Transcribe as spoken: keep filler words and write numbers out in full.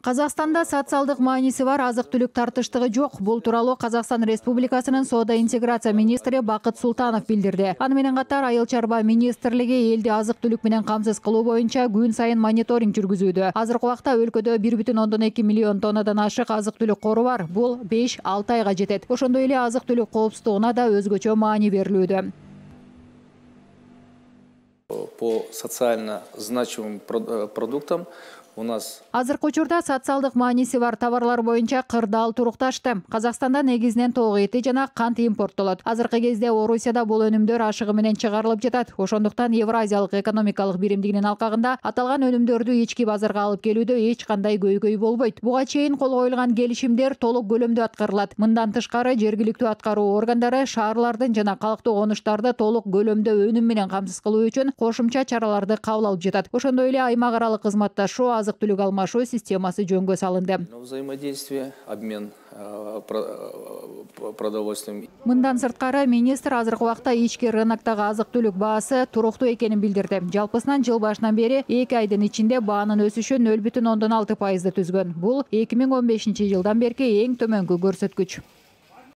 Казакстанда социалдык мааниси бар азык-түлүк тартыштыгы жок. Бул тууралуу Казакстан Республикасынын соода интеграция министри Бакыт Султанов билдирди. Аны менен катар Айыл чарба министрлиги элди азык-түлүк менен камсыз кылуу боюнча күн сайын мониторинг жүргүзүүдө. Азыркы убакта өлкөдө бир бүтүн ондон эки миллион тоннадан ашык азык-түлүк кору бар. Бул беш алты айга жетет. Ошондой эле азык-түлүк коопсуздугуна да өзгөчө маани берилүүдө. По социально значимым продуктам у нас азыркы учурда социалдык мааниси бар товарлар боюнча кырдаал турукташты. Казакстанда негизинен тоо эти жана кант импорттолот. Азыркы кезде Орусияда бул өнүмдөр ашыгы менен чыгарылып жатат. Ошондуктан Евразиялык экономикалык биримдигинин алкагында аталган өнүмдөрдү ички базарга алып келүүдө эч кандай көйгөй болбойт. Буга чейин кол коюлган келишимдер толук көлөмдө аткарылат. Мындан тышкары жергиликтүү аткаруу органдары шаарлардын жана калктуу конуштарды толук көлөмдө өнүм менен камсыз кылуу үчүн кошумча чараларды кабыл алып жатат. Ошондой эле аймак аралык кызматташуу, азык-түлүк алмашуу системасы жөнгө салынды. Взаимодействие, обмен продовольствием. Мындан сырткары министр азыркы убакта ички рыноктогу азык-түлүк баасы туруктуу экенин билдирди. Жалпысынан жыл башынан бери эки айдын ичинде баанын өсүшү нөл бүтүн ондон алты пайызды түзгөн. Бул эки миң он бешинчи жылдан берки эң төмөнкү көрсөткүч.